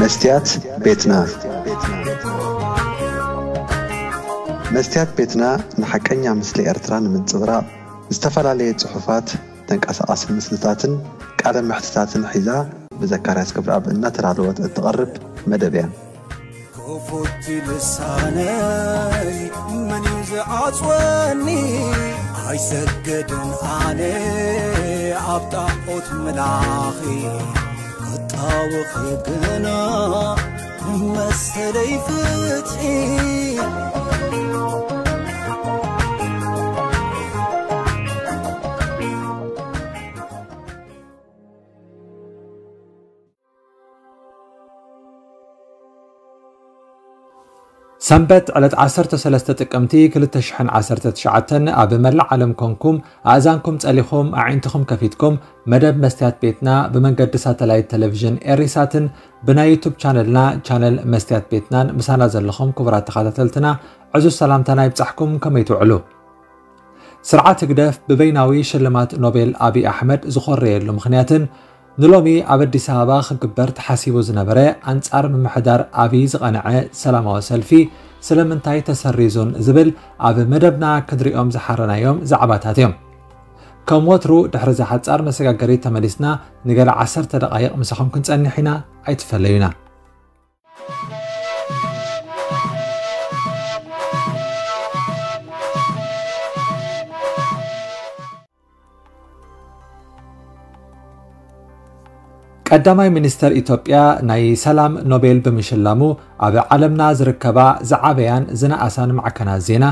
መስትያት ቤትና። መስትያት ቤትና ንሓቀኛ ምስሊ ኤርትራ ንምንጽብራቕ ዝተፈላለየ ጽሑፋት፣ ተንቀሳቓሲ ምስልታትን ቃለ መሕትታትን ሒዛ ብዘካርያስ ክብረኣብ እናተዳለወት እትቐርብ መደብ እያ። ክፉት ልሳነይ መን እዩ ዝዓጽወኒ? ኣይሰግድን ኣነ ኣብ ጣዖት ምላኺ፣ ክጣወኺ ግና መሰለይ ፍትሒ። ሰንበት ዕለት ዓሰርተ ሰለስተ ጥቅምቲ ክልተ ሽሕን ዓሰርተ ትሽዓተን ኣብ መላእ ዓለም ኮንኩም ኣእዛንኩም ጸሊኹም ኣዒንትኹም ከፊትኩም መደብ መስትያት ቤትና ብመንገዲ ሳተላይት ቴሌቪዥን ኤሪሳትን ብናይ ዩቱብ ቻነልና ቻነል መስትያት ቤትናን ምሳና ዘለኹም ክቡራት ተኸታተልትና ዕዙዝ ሰላምታና ይብጻሕኩም። ከመይ ትውዕሉ? ስርዓት ህግደፍ ብበይናዊ ሽልማት ኖቤል ኣብይ ኣሕመድ ዝኾረየሉ ምኽንያትን ንሎሚ ኣብ ኣዲስ ኣበባ ክግበር ተሓሲቡ ዝነበረ ኣንጻር ምምሕዳር ኣብይ ዝቐንዐ ሰላማዊ ሰልፊ ስለምንታይ ተሰሪዙን ዝብል ኣብ መደብና ክንሪኦም ዝሓረናዮም ዛዕባታት እዮም። ከም ወትሩ ድሕሪ እዛ ሓጻር መሰጋገሪት ተመሊስና ንገለ ዓሰርተ ደቓይቕ ምሳኹም ክንጸንሕ ኢና፣ ኣይትፈለዩና። ቀዳማይ ሚኒስተር ኢትዮጵያ ናይ ሰላም ኖቤል ብምሽላሙ ኣብ ዓለምና ዝርከባ ዝዓበያን ዝነኣሳን ማዕከናት ዜና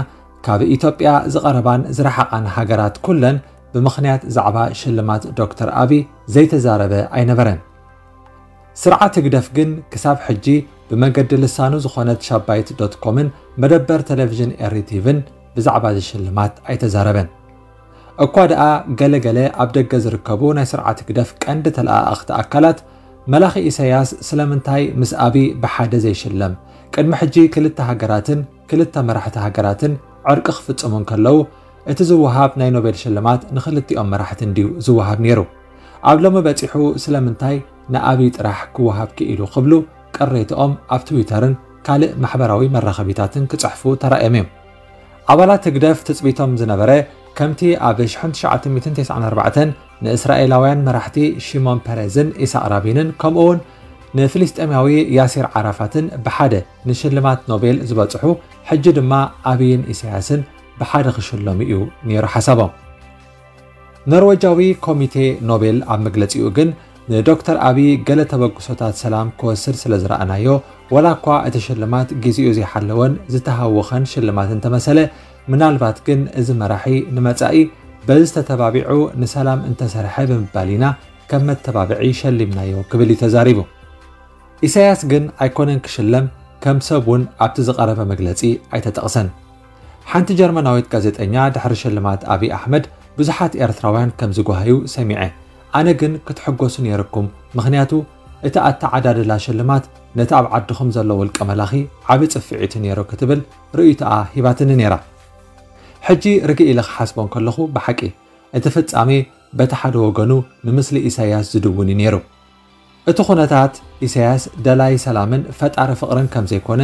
ካብ ኢትዮጵያ ዝቐረባን ዝረሓቓን ሃገራት ኩለን ብምኽንያት ዛዕባ ሽልማት ዶክተር ኣቢ ዘይተዛረበ ኣይነበረን። ስርዓት ህግደፍ ግን ክሳብ ሕጂ ብመገዲ ልሳኑ ዝኾነት ሻባይት ዶት ኮምን መደበር ቴሌቪዥን ኤሪ ቲቪን ብዛዕባ እዚ ሽልማት ኣይተዛረበን። እኳ ደኣ ገለ ገለ ኣብ ደገ ዝርከቡ ናይ ስርዓት ህግደፍ ቀንዲ ተለኣኣኽቲ ኣካላት መላኺ ኢሳያስ ስለምንታይ ምስ ኣቢ ብሓደ ዘይሽለም? ቅድሚ ሕጂ ክልተ ሃገራትን ክልተ መራሕቲ ሃገራትን ዕርቂ ክፍጽሙ እንከለዉ እቲ ዝወሃብ ናይ ኖቤል ሽልማት ንክልቲኦም መራሕቲ እንድዩ ዝወሃብ ነይሩ። ኣብ ሎሚ በጺሑ ስለምንታይ ንኣብይ ጥራሕ ክወሃብ ክኢሉ ክብሉ ቅሬትኦም ኣብ ትዊተርን ካልእ ማሕበራዊ መራኸቢታትን ክጽሕፉ ተራእዮም እዮም። ኣባላት ህግደፍ ትጽቢቶም ዝነበረ ከምቲ ኣብ ሽሕን ትሽዓተ ሚእትን ተስዓን ኣርባዕተን ንእስራኤላውያን መራሕቲ ሺሞን ፐሬዝን ኢሳቕ ራቢንን ከምኡውን ንፍልስጤማዊ ያሲር ዓራፋትን ብሓደ ንሽልማት ኖቤል ዝበጽሑ ሕጂ ድማ ኣብይን ኢሳያስን ብሓደ ክሽለሙ እዩ ነይሩ ሓሳቦም። ኖርዌጃዊ ኮሚቴ ኖቤል ኣብ መግለጺኡ ግን ንዶክተር ኣቢ ገለ ተበግሶታት ሰላም ክወስድ ስለ ዝረኣናዮ፣ ወላ እኳ እቲ ሽልማት ግዜኡ ዘይሓለወን ዝተሃወኸን ሽልማት እንተመሰለ፣ ምናልባት ግን እዚ መራሒ ንመጻኢ በዚ ተተባቢዑ ንሰላም እንተሰርሐ ብምባል ኢና ከም መተባብዒ ሸሊምናዮ ክብል እዩ ተዛሪቡ። ኢሳያስ ግን ኣይኮነን ክሽለም፣ ከም ሰብ እውን ኣብቲ ዝቐረበ መግለጺ ኣይተጠቕሰን። ሓንቲ ጀርመናዊት ጋዜጠኛ ድሕሪ ሽልማት ኣቢ ኣሕመድ ብዙሓት ኤርትራውያን ከም ዝጓሃዩ ሰሚዐ። ኣነ ግን ክትሕጎሱ ነይርኩም፣ ምኽንያቱ እቲ ኣተዓዳድላ ሽልማት ነቲ ኣብ ዓድኹም ዘሎ ውልቀ መላኺ ዓቢ ጽፍዒት ነይሩ ክትብል ርእይቶኣ ሂባትኒ ነይራ። ሕጂ ርግእ ኢለ ክሓስቦ እንከለኹ ብሓቂ እቲ ፍጻሜ በቲ ሓደ ወገኑ ንምስሊ ኢሳያስ ዝድውን እዩ ነይሩ። እቲ ኩነታት ኢሳያስ ደላይ ሰላምን ፈጣሪ ፍቕርን ከም ዘይኮነ፣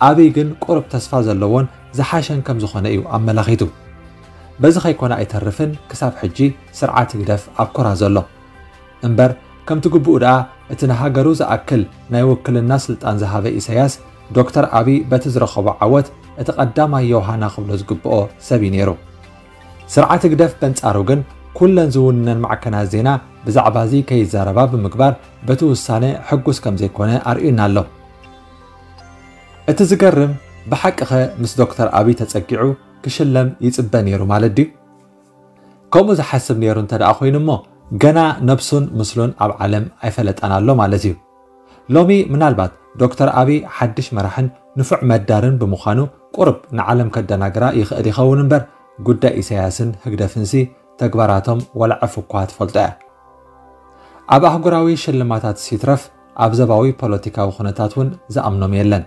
ኣብይ ግን ቁሩብ ተስፋ ዘለዎን ዝሓሸን ከም ዝኾነ እዩ ኣመላኺቱ። በዚ ከይኮነ ኣይተርፍን ክሳብ ሕጂ ስርዓት ህግደፍ ኣብ ኮራ ዘሎ። እምበር ከምቲ ግቡኡ ደኣ እቲ ንሃገሩ ዝኣክል ናይ ውክልና ስልጣን ዝሃበ ኢሳያስ ዶክተር ኣብይ በቲ ዝረኸቦ ዓወት እቲ ቀዳማይ ዮሃና ክብሎ ዝግብኦ ሰብ እዩ ነይሩ። ስርዓት ህግደፍ በንጻሩ ግን ኩለን ዝውንነን ማዕከናት ዜና ብዛዕባ እዚ ከይዛረባ ብምግባር በቲ ውሳነ ሕጉስ ከም ዘይኮነ ኣርእዩና ኣሎ። እቲ ዝገርም ብሓቂ ኸ ምስ ዶክተር ኣብይ ተጸጊዑ ክሽለም ይጽበ ነይሩ ማለት ድዩ? ከምኡ ዝሓስብ ነይሩ እንተ ደኣ ኮይኑ እሞ ገና ነብሱን ምስሉን ኣብ ዓለም ኣይፈለጠን ኣሎ ማለት እዩ። ሎሚ ምናልባት ዶክተር ኣብይ ሓድሽ መራሕን ንፉዕ መዳርን ብምዃኑ ቁሩብ ንዓለም ከደናግራ ይኽእል ይኸውን እምበር ጉዳይ ኢሳያስን ህግደፍንሲ ተግባራቶም ዋላ ዕፍ እኳ ትፈልጦ እያ። ኣብ ኣህጉራዊ ሽልማታት ሲትረፍ ኣብ ዘባዊ ፖለቲካዊ ኩነታት እውን ዝኣምኖም የለን።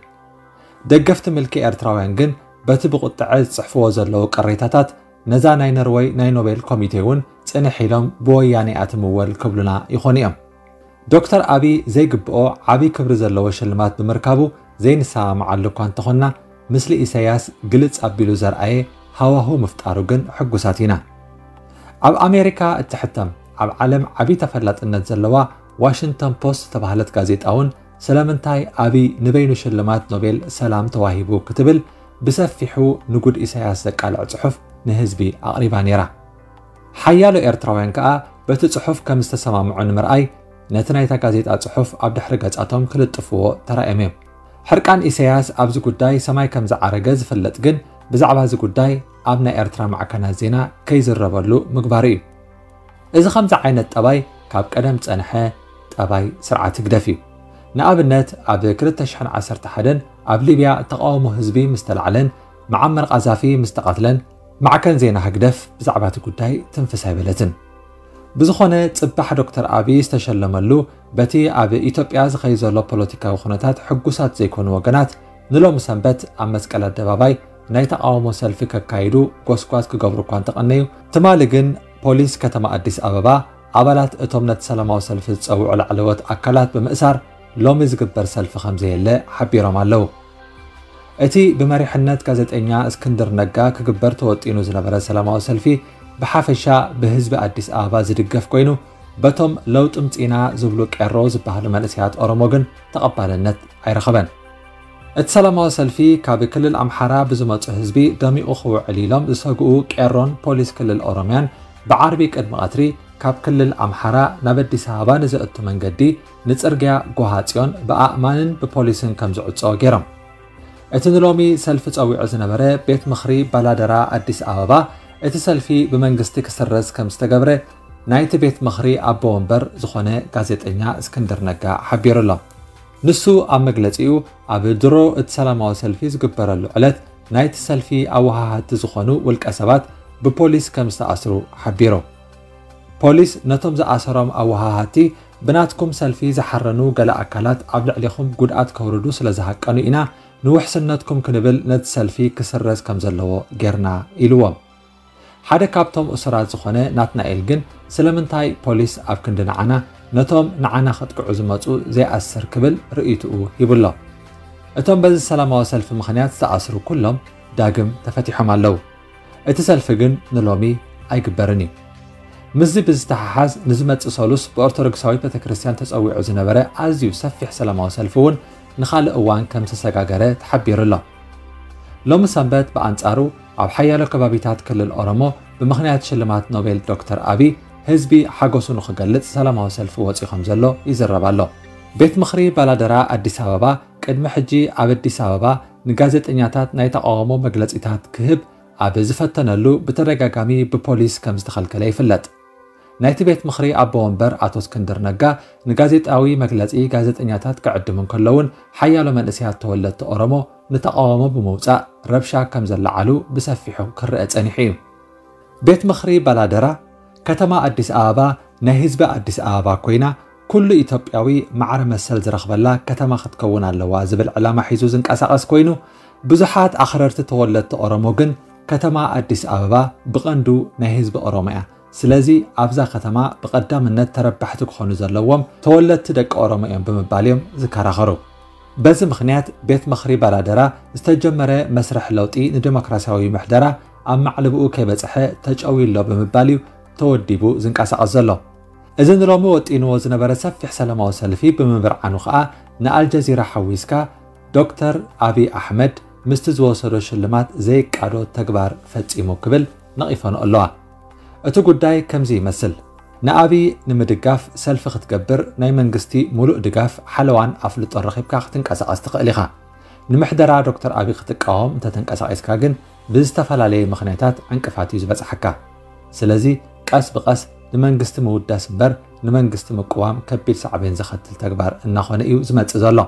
ደገፍቲ ምልኪ ኤርትራውያን ግን በቲ ብቁጥዐ ዝጽሕፍዎ ዘለዉ ቅሬታታት ነዛ ናይ ኖርወይ ናይ ኖቤል ኮሚቴ እውን ጽንሕ ኢሎም ብወያኔ እያ ትምወል ክብሉና ይኾኑ እዮም። ዶክተር ኣቢ ዘይግብኦ ዓቢ ክብሪ ዘለዎ ሽልማት ብምርካቡ ዘይንሰማማዓሉ እኳ እንተኾንና፣ ምስሊ ኢሳያስ ግልጽ ኣቢሉ ዘርኣየ ሃዋሁ ምፍጣሩ ግን ሕጉሳት ኢና። ኣብ ኣሜሪካ እትሕተም ኣብ ዓለም ዓቢ ተፈላጥነት ዘለዋ ዋሽንግተን ፖስት ዝተባህለት ጋዜጣ እውን ስለምንታይ ኣቢ ንበይኑ ሽልማት ኖቤል ሰላም ተዋሂቡ ክትብል ብሰፊሑ ንጉድ ኢሳያስ ዘቃልዕ ጽሑፍ ንህዝቢ ኣቕሪባ ነይራ። ሓያሎ ኤርትራውያን ከኣ በቲ ጽሑፍ ከም ዝተሰማምዑ ንምርኣይ ነቲ ናይታ ጋዜጣ ጽሑፍ ኣብ ድሕሪ ገጻቶም ክልጥፍዎ ተራእዮም እዮም። ሕርቃን ኢሳያስ ኣብዚ ጉዳይ ሰማይ ከም ዝዓረገ ዝፍለጥ ግን ብዛዕባ እዚ ጉዳይ ኣብ ናይ ኤርትራ ማዕከናት ዜና ከይዝረበሉ ምግባሩ እዩ። እዚ ከምዚ ዓይነት ጠባይ ካብ ቀደም ዝጸንሐ ጠባይ ስርዓት ህግደፍ እዩ። ንኣብነት ኣብ ክልተ ሽሕን ዓሰርተ ሓደን ኣብ ሊብያ ተቓውሞ ህዝቢ ምስ ተላዕለን መዓመር ቃዛፊ ምስ ተቐትለን ማዕከን ዜና ህግደፍ ብዛዕባ እቲ ጉዳይ ትንፍስ ኣይበለትን። ብዝኾነ ጽባሕ ዶክተር ኣቢ ዝተሸለመሉ በቲ ኣብ ኢትዮጵያ ዝኸይድ ዘሎ ፖለቲካዊ ኩነታት ሕጉሳት ዘይኮኑ ወገናት ንሎሚ ሰንበት ኣብ መስቀል ኣደባባይ ናይ ተቓውሞ ሰልፊ ከካይዱ ጎስጓስ ክገብሩ እኳ እንተቐነዩ፣ ትማሊ ግን ፖሊስ ከተማ ኣዲስ ኣበባ ኣባላት እቶም ነቲ ሰላማዊ ሰልፊ ዝጸውዑ ላዕለዎት ኣካላት ብምእሳር ሎሚ ዝግበር ሰልፊ ከም ዘየለ ሓቢሮም ኣለዉ። እቲ ብመሪሕነት ጋዜጠኛ እስክንድር ነጋ ክግበር ተወጢኑ ዝነበረ ሰላማዊ ሰልፊ ብሓፈሻ ብህዝቢ ኣዲስ ኣበባ ዝድገፍ ኮይኑ፣ በቶም ለውጢ ምጺና ዝብሉ ቄሮ ዝበሃሉ መንእሰያት ኦሮሞ ግን ተቐባልነት ኣይረኸበን። እቲ ሰላማዊ ሰልፊ ካብ ክልል ኣምሓራ ብዝመጹ ህዝቢ ደሚቑ ክውዕል ኢሎም ዝሰግኡ ቄሮን ፖሊስ ክልል ኦሮምያን ብዓርቢ ቅድሚ ቀትሪ ካብ ክልል ኣምሓራ ናብ ኣዲስ ኣበባ ንዘእቱ መንገዲ ንጽርግያ ጎሃጽዮን ብኣእማንን ብፖሊስን ከም ዝዕጾ ገይሮም። እቲ ንሎሚ ሰልፊ ጸዊዑ ዝነበረ ቤት ምኽሪ ባላደራ ኣዲስ ኣበባ እቲ ሰልፊ ብመንግስቲ ክስረዝ ከም ዝተገብረ ናይቲ ቤት ምኽሪ ኣቦ ወንበር ዝኾነ ጋዜጠኛ እስክንድር ነጋ ሓቢሩ ኣሎ። ንሱ ኣብ መግለጺኡ ኣብ ድሮ እቲ ሰላማዊ ሰልፊ ዝግበረሉ ዕለት ናይቲ ሰልፊ ኣወሃሃድቲ ዝኾኑ ውልቀ ሰባት ብፖሊስ ከም ዝተኣስሩ ሓቢሩ። ፖሊስ ነቶም ዝኣሰሮም ኣወሃሃድቲ ብናትኩም ሰልፊ ዝሓረኑ ገለ ኣካላት ኣብ ልዕሌኹም ጉድኣት ከውርዱ ስለ ዝሃቀኑ ኢና ንውሕስነትኩም ክንብል ነቲ ሰልፊ ክስረዝ ከም ዘለዎ ጌርና ኢልዎም። ሓደ ካብቶም እሱራት ዝኾነ ናትናኤል ግን ስለምንታይ ፖሊስ ኣብ ክንዲ ንዓና ነቶም ንዓና ከጥቅዑ ዝመጹ ዘይኣስር ክብል ርእይትኡ ሂቡሎ። እቶም በዚ ሰላማዊ ሰልፊ ምኽንያት ዝተኣስሩ ኩሎም ዳግም ተፈቲሖም ኣለዉ። እቲ ሰልፊ ግን ንሎሚ ኣይግበርን እዩ። ምስዚ ብዝተሓሓዝ ንዝመጽእ ሰሉስ ብኦርቶዶክሳዊት ቤተክርስትያን ተጸዊዑ ዝነበረ ኣዝዩ ሰፊሕ ሰላማዊ ሰልፊ እውን ንኻልእ እዋን ከም ዝተሰጋገረ ተሓቢሩ ኣሎ። ሎሚ ሰንበት ብኣንጻሩ ኣብ ሓያሎ ከባቢታት ክልል ኦሮሞ ብምኽንያት ሽልማት ኖቤል ዶክተር ኣቢ ህዝቢ ሓጎሱ ንኽገልጽ ሰላማዊ ሰልፊ ወጺኡ ከም ዘሎ ይዝረብ ኣሎ። ቤት ምኽሪ ባላደራ ኣዲስ ኣበባ ቅድሚ ሕጂ ኣብ ኣዲስ ኣበባ ንጋዜጠኛታት ናይ ተቓውሞ መግለጺታት ክህብ ኣብ ዝፈተነሉ ብተደጋጋሚ ብፖሊስ ከም ዝተኸልከለ ይፍለጥ። ናይቲ ቤት ምኽሪ ኣቦ ወንበር ኣቶ እስክንድር ነጋ ንጋዜጣዊ መግለጺ ጋዜጠኛታት ክዕድሙ እንከለውን ሓያሎ መንእሰያት ተወለድቲ ኦሮሞ ንተቓውሞ ብምውጻእ ረብሻ ከም ዘለዓሉ ብሰፊሑ ክረአ ጸኒሑ እዩ። ቤት ምኽሪ ባላደራ ከተማ ኣዲስ ኣበባ ናይ ህዝቢ ኣዲስ ኣበባ ኮይና ኩሉ ኢትዮጵያዊ ማዕረ መሰል ዝረኽበላ ከተማ ክትከውን ኣለዋ ዝብል ዕላማ ሒዙ ዝንቀሳቐስ ኮይኑ ብዙሓት ኣኽረርቲ ተወለድቲ ኦሮሞ ግን ከተማ ኣዲስ ኣበባ ብቐንዱ ናይ ህዝቢ ኦሮሞ እያ። ስለዚ ኣብዛ ከተማ ብቐዳምነት ተረባሕቲ ክኾኑ ዘለዎም ተወለድቲ ደቂ ኦሮሞ እዮም ብምባል እዮም ዝከራኸሩ። በዚ ምኽንያት ቤት ምኽሪ ባላደራ ዝተጀመረ መስርሕ ለውጢ ንዲሞክራሲያዊ ምሕደራ ኣብ ማዕለብኡ ከይበጽሐ ተጨውዩ ኣሎ ብምባል እዩ ተወዲቡ ዝንቀሳቐስ ዘሎ። እዚ ንሎሚ ወጢንዎ ዝነበረ ሰፊሕ ሰላማዊ ሰልፊ ብምብርዓኑ ከኣ ንኣልጀዚራ ሓዊስካ ዶክተር ኣቢ ኣሕመድ ምስቲ ዝወሰዶ ሽልማት ዘይቃዶ ተግባር ፈጺሙ ክብል ነቒፈንኦ ኣለዋ። እቲ ጉዳይ ከምዚ ይመስል። ንኣቢ ንምድጋፍ ሰልፊ ክትገብር ናይ መንግስቲ ሙሉእ ድጋፍ ሓለዋን ኣፍልጦን ረኺብካ ክትንቀሳቐስ ትኽእል ኢኻ። ንምሕደራ ዶክተር ኣቢ ክትቃወም እንተተንቀሳቒስካ ግን ብዝተፈላለየ ምኽንያታት ዕንቅፋት እዩ ዝበጽሓካ። ስለዚ ቀስ ብቐስ ንመንግስቲ ምውዳስ እምበር ንመንግስቲ ምቅዋም ከቢድ ሳዕቤን ዘኸትል ተግባር እናኾነ እዩ ዝመጽእ ዘሎ።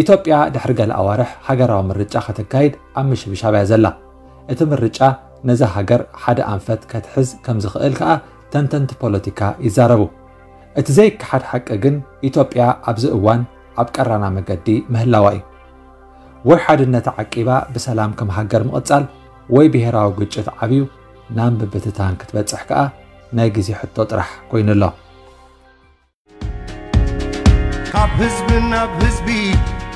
ኢትዮጵያ ድሕሪ ገለ ኣዋርሕ ሃገራዊ ምርጫ ከተካይድ ኣብ ምሽብሻብ እያ ዘላ። እቲ ምርጫ ነዛ ሃገር ሓደ ኣንፈት ከትሕዝ ከም ዝኽእል ከኣ ተንተንቲ ፖለቲካ ይዛረቡ። እቲ ዘይከሓድ ሓቂ ግን ኢትዮጵያ ኣብዚ እዋን ኣብ ቀራና መገዲ ምህላዋ እዩ። ወይ ሓድነታ ዓቂባ ብሰላም ከም ሃገር ምቕጻል ወይ ብሄራዊ ግጭት ዓብዩ ናብ ምብትታን ክትበጽሕ ከኣ ናይ ግዜ ሕቶ ጥራሕ ኮይኑ ኣሎ። ህዝቢ ናብ ህዝቢ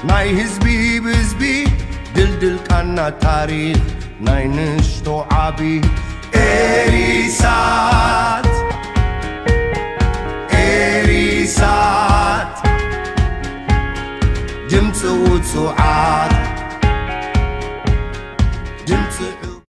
ናይ ህዝቢ ብህዝቢ ድልድል ቃና ታሪኽ ናይ ንሽቶ ዓቢ ኤሪሳት ኤሪሳት ድምፂ ውፁዓት ድምፂ